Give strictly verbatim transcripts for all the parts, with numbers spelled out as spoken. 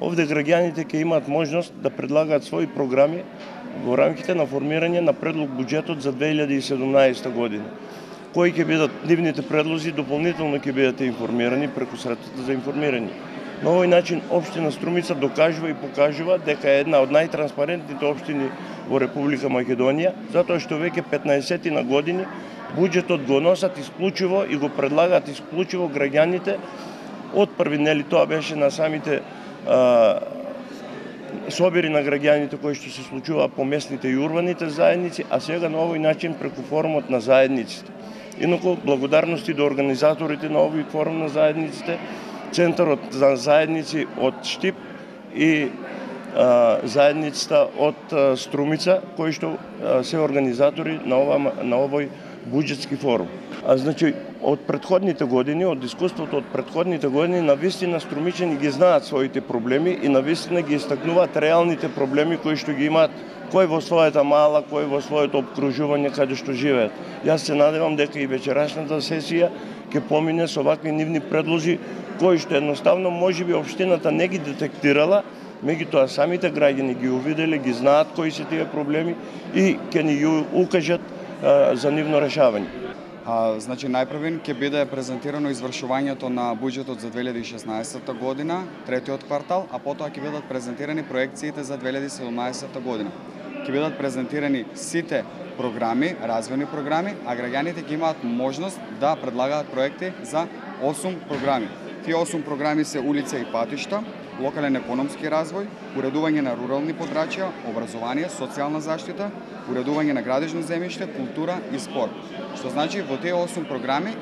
Овде граѓаните ќе имаат можност да предлагаат своји програми во рамките на формирање на предлог буџетот за две илјади и седумнаесета година. Кои ќе бидат нивните предлози, дополнително ќе бидете информирани преку средствата за информирање. На овој начин општина Струмица докажува и покажува дека е една од најтранспарентните општини во Република Македонија, затоа што веќе петнаесет на години буџетот го носат исклучиво и го предлагаат исклучиво граѓаните. Од први, нели, тоа беше на самите а, собери на граѓаните кои што се случува по местните и урбаните заедници, а сега на овој начин преку форумот на заедниците. Инаку, благодарности до организаторите на овој форум на заедниците, Центарот за заедници од Штип и а, заедницата од а, Струмица, кои што а, се организатори на, ова, на овој буџетски форум. А значи, од претходните години, од искуството од претходните години, навистина струмичани ги знаат своите проблеми и навистина ги истакнуваат реалните проблеми кои што ги имаат кој во својата мала, кој во своето обкружување каде што живеат. Јас се надевам дека и вечерашната сесија ќе помине со вакви нивни предлози кои што едноставно можеби општината не ги детектирала, меѓутоа самите граѓани ги увиделе, ги знаат кои се тие проблеми и ќе ни ги укажат а, за нивно решавање. А, значи, најпрвен ќе биде презентирано извршувањето на буџетот за две илјади и шеснаесета година, третиот квартал, а потоа ќе бидат презентирани проекциите за две илјади и седумнаесета година. Ќе бидат презентирани сите програми, развојни програми, а граѓаните ќе имаат можност да предлагаат проекти за осум програми. Тие осум програми се улица и патишта, локален економски развој, уредување на рурални подрачја, образование, социјална заштита, уредување на градежно земјиште, култура и спорт. Што значи во тие осум програми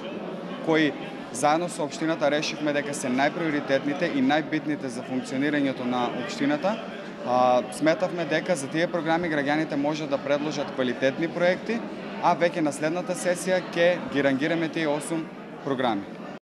кои заедно со општината решивме дека се најприоритетните и најбитните за функционирањето на општината, а, сметавме дека за тие програми граѓаните може да предложат квалитетни проекти, а веќе на следната сесија ќе ги рангираме тие осум програми.